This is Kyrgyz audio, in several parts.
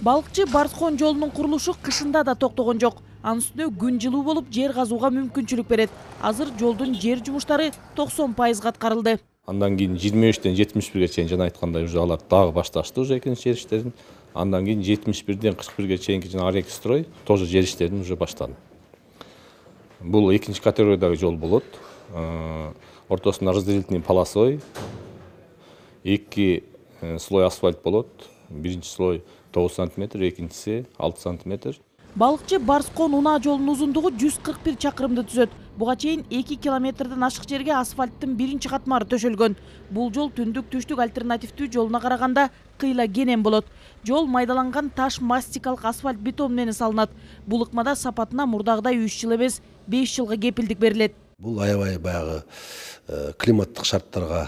Балыкчы Барскон жолунун курулушу кышында да токтогон жок. Анын үстүнө күн жылуу болуп, жер казууга мүмкүнчүлүк берет. Азыр жолдун жер жумуштары 90% аткарылды. Андан кийин 23-тен 71-ге чейин жана айткандай уже алар дагы башташты уже экинчи жер иштерин. Андан кийин 71-ден 41-ге чейинки жана Арекстрой тоже жер иштерин уже баштады. Бул экинчи категориядагы жол болот. Ортосунда разделительный полосой 2 слой асфальт болот. Биринчи слой 9 сантиметр, экинчиси 6 сантиметр. Балыкчы Барскон унаа жолунун узундугу 141 чакырымды түзөт. Буга чейин 2 километрден ашык жерге асфальттын биринчи катмары төшөлгөн. Бул жол түндүк-түштүк альтернативдүү жолуна караганда кыйла кенен болот. Жол майдаланган таш мастикалык асфальт бетон менен салынат. Бул ыкмада сапатына мурдагыдай 3 жыл эмес 5 жылга кепилдик берилет. Бул аябай баягы климаттык шарттарга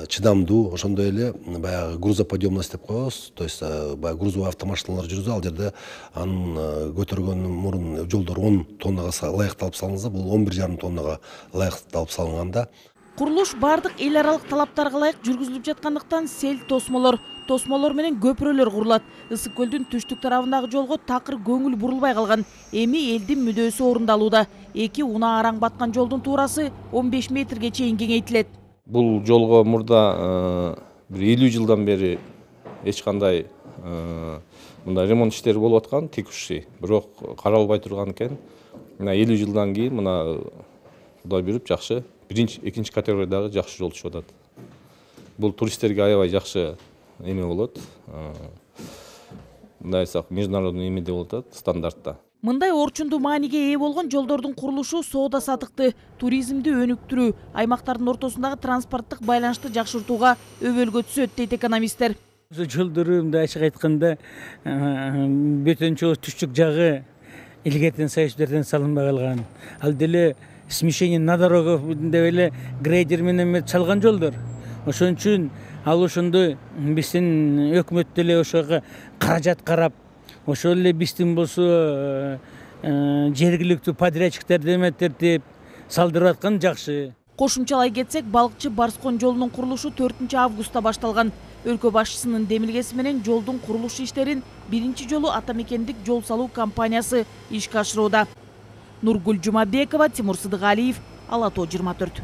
чыдамдуу, ошондой эле баягы грузоподъемность деп коебуз. То есть баягы грузовой автомашиналар жүрүзүп, ал жерде анын көтөргөндөн мурун жолдор 10 тоннага ылайыкталып салынса, бул 11,5 тоннага ылайыкталып салынганда. Курулуш бардык эл аралык талаптарга ылайык жүргүзүлүп жаткандыктан сел тосмолор менен көпүрөлөр курулат. Ысык көлдүн түштүк тарабындагы жолго такыр көңүл бурулбай калган. Эми элдин мүдөөсү орундалууда. 2 унаа араң баткан жолдун туурасы 15 метрге чейин кеңейтилет. Бул жолго мурда бир 50 жылдан бери эч кандай мындай ремонт иштери болуп аткан, текущий, бирок каралбай турган экен. Мына 50 жылдан кийин мына Кудай буйруп жакшы биринчи, экинчи категориядагы жакшы жол түшүп атат. Бул туристтерге аябай жакшы эме болот. Мындай айтсак, международный эмеде болуп атат, стандартта. Мындай орчундуу мааниге ээ болгон жолдордун курулушу соода сатыкты, туризмди өнүктүрүү, аймактардын ортосундагы транспорттук байланышты жакшыртууга өбөлгө түзөт дейт экономисттер. Жолдору мындай ачык айтканда бөтөнчө түштүк жагы илгертен союздардан салынбай калган. Ал деле смещение на дорогу деп эле грейдер менен чалган жолдор. Ошон үчүн ал ошондой биздин өкмөт деле ошого каражат карап, ошол эле биздин болсо жергиликтүү подрядчиктерди эметтерип салдырып аткан жакшы. Кошумчалай кетсек, Балыкчы Барскон жолунун курулушу 4 августта башталган. Өлкө башчысынын демилгеси менен жолдун курулуш иштерин биринчи жолу Ата Мекендик жол салуу компаниясы ишке ашырууда. Нургүл Жумабекова, Тимур Сыдыгалиев, Ала Тоо 24.